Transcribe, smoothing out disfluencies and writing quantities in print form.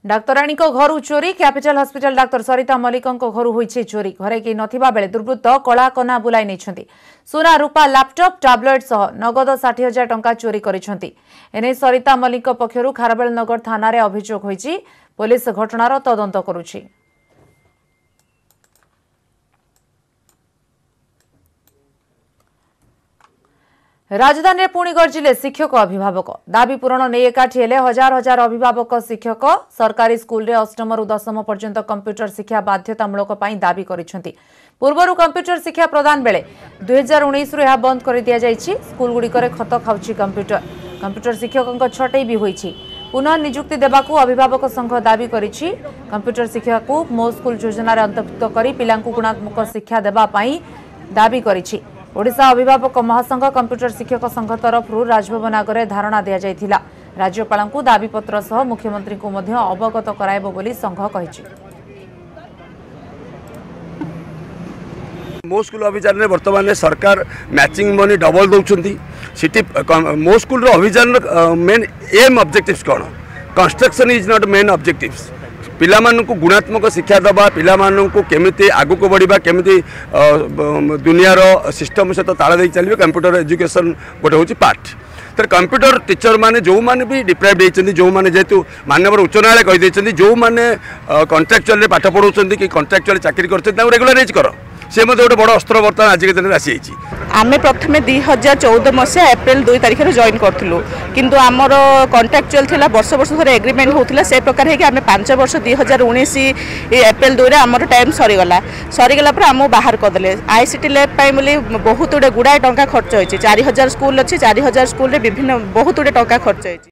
ଡାକ୍ତରାଣୀଙ୍କ ଘରୁ ଚୋରି। Capital hospital ଡାକ୍ତର ସରିତା ମଲ୍ଲିକଙ୍କ ଘରୁ ହୋଇଛି ଚୋରି। ଘରେ କେହି ନଥିବା ବେଳେ ଦୁର୍ବୃତ୍ତ କଳାକନା ବୁଲାଇ ନେଇଛନ୍ତି। ସୁନା, ରୂପା, ଲାପଟପ୍, ଟାବ୍ଲେଟ୍ ସହ ନଗଦ 60,000 ଟଙ୍କା ଚୋରି କରିଛନ୍ତି। ଏନେଇ ସରିତା ମଲ୍ଲିକଙ୍କ ପକ୍ଷରୁ ଖାରବେଳନଗର ଥାନାରେ ଅଭିଯୋଗ ହୋଇଛି। ପୋଲିସ ଘଟଣାର ତଦନ୍ତ କରୁଛି। ରାଜଧାନୀରେ ପୁଣି ଗର୍ଜିଲେ ଶିକ୍ଷକ ଅଭିଭାବକ। ଦାବି ପୂରଣ ନେଇ ଏକାଠି ହେଲେ ହଜାର ହଜାର ଅଭିଭାବକ ଶିକ୍ଷକ। ସରକାରୀ ସ୍କୁଲରେ ଅଷ୍ଟମରୁ ଦଶମ ପର୍ଯ୍ୟନ୍ତ କମ୍ପ୍ୟୁଟର ଶିକ୍ଷା ବାଧ୍ୟତାମୂଳକ ପାଇଁ ଦାବି କରିଛନ୍ତି। ପୂର୍ବରୁ କମ୍ପ୍ୟୁଟର ଶିକ୍ଷା ପ୍ରଦାନ ବେଳେ 2019ରୁ ଏହା ବନ୍ଦ କରିଦିଆଯାଇଛି। ସ୍କୁଲଗୁଡ଼ିକରେ ଖତ ଖାଉଛି କମ୍ପ୍ୟୁଟର। କମ୍ପ୍ୟୁଟର ଶିକ୍ଷକଙ୍କ ଛଟେଇ ବି ହୋଇଛି। ପୁନଃ ନିଯୁକ୍ତି ଦେବାକୁ ଅଭିଭାବକ ସଂଘ ଦାବି କରିଛି। କମ୍ପ୍ୟୁଟର ଶିକ୍ଷାକୁ ମୋ ସ୍କୁଲ ଯୋଜନାରେ ଅନ୍ତର୍ଭୁକ୍ତ କରି ପିଲାଙ୍କୁ ଗୁଣାତ୍ମକ ଶିକ୍ଷା ଦେବା ପାଇଁ ଦାବି କରିଛି। ଓଡ଼ିଶା ଅଭିଭାବକ ମହାସଂଘ, କମ୍ପ୍ୟୁଟର ଶିକ୍ଷକ ସଂଘ ତରଫରୁ ରାଜଭବନ ଆଗରେ ଧାରଣା ଦିଆଯାଇଥିଲା। ରାଜ୍ୟପାଳଙ୍କୁ ଦାବିପତ୍ର ସହ ମୁଖ୍ୟମନ୍ତ୍ରୀଙ୍କୁ ମଧ୍ୟ ଅବଗତ କରାଇବ ବୋଲି ସଂଘ କହିଛି। ମୋ ସ୍କୁଲ ଅଭିଯାନରେ ବର୍ତ୍ତମାନ ସରକାର ମ୍ୟାଚିଂ ମନି ଡବଲ ଦେଉଛନ୍ତି। ସେଠି ମୋ ସ୍କୁଲର ଅଭିଯାନର ମେନ୍ ଏମ୍ ଅବଜେକ୍ଟିଭ୍ସ କ'ଣ? Construction is not main objectives. ପିଲାମାନଙ୍କୁ ଗୁଣାତ୍ମକ ଶିକ୍ଷା ଦେବା, ପିଲାମାନଙ୍କୁ କେମିତି ଆଗକୁ ବଢ଼ିବା, କେମିତି ଦୁନିଆର ସିଷ୍ଟମ୍ ସହିତ ତାଳ ଦେଇ ଚାଲିବେ, କମ୍ପ୍ୟୁଟର ଏଜୁକେସନ୍ ଗୋଟେ ହେଉଛି ପାର୍ଟ। ତେଣୁ କମ୍ପ୍ୟୁଟର ଟିଚର ମାନେ ଯେଉଁମାନେ ବି ଡିପ୍ରାଇଭ୍ ହେଇଛନ୍ତି, ଯେଉଁମାନେ ଯେହେତୁ ମାନ୍ୟବର ଉଚ୍ଚ ନ୍ୟାୟାଳୟ କହିଦେଇଛନ୍ତି, ଯେଉଁମାନେ କଣ୍ଟ୍ରାକ୍ଚୁଆଲରେ ପାଠ ପଢ଼ାଉଛନ୍ତି କି କଣ୍ଟ୍ରାକ୍ଚୁଆଲ ଚାକିରି କରୁଛନ୍ତି, ତାଙ୍କୁ ରେଗୁଲାରାଇଜ୍ କର। ସେ ମଧ୍ୟ ଗୋଟେ ବଡ଼ ଅସ୍ତ୍ର ବର୍ତ୍ତମାନ ଆଜିକା ଦିନରେ ଆସିଯାଇଛି। ଆମେ ପ୍ରଥମେ 2014 ମସିହା ଏପ୍ରିଲ 2 ତାରିଖରେ ଜଏନ୍ କରିଥିଲୁ, କିନ୍ତୁ ଆମର କଣ୍ଟ୍ରାକ୍ଚୁଆଲ ଥିଲା, ବର୍ଷ ବର୍ଷ ଧରି ଏଗ୍ରିମେଣ୍ଟ ହେଉଥିଲା। ସେ ପ୍ରକାର ହେଇକି ଆମେ 5 ବର୍ଷ 2019 ଏପ୍ରିଲ 2ରେ ଆମର ଟାଇମ୍ ସରିଗଲା। ସରିଗଲା ପରେ ଆମକୁ ବାହାର କରିଦେଲେ। I C T lab ପାଇଁ ବୋଲି ବହୁତ ଗୁଡ଼ିଏ ଗୁଡ଼ାଏ ଟଙ୍କା ଖର୍ଚ୍ଚ ହେଇଛି। 4000 ସ୍କୁଲ ଅଛି, 4000 ସ୍କୁଲରେ ବିଭିନ୍ନ ବହୁତ ଗୁଡ଼ିଏ ଟଙ୍କା ଖର୍ଚ୍ଚ ହେଇଛି।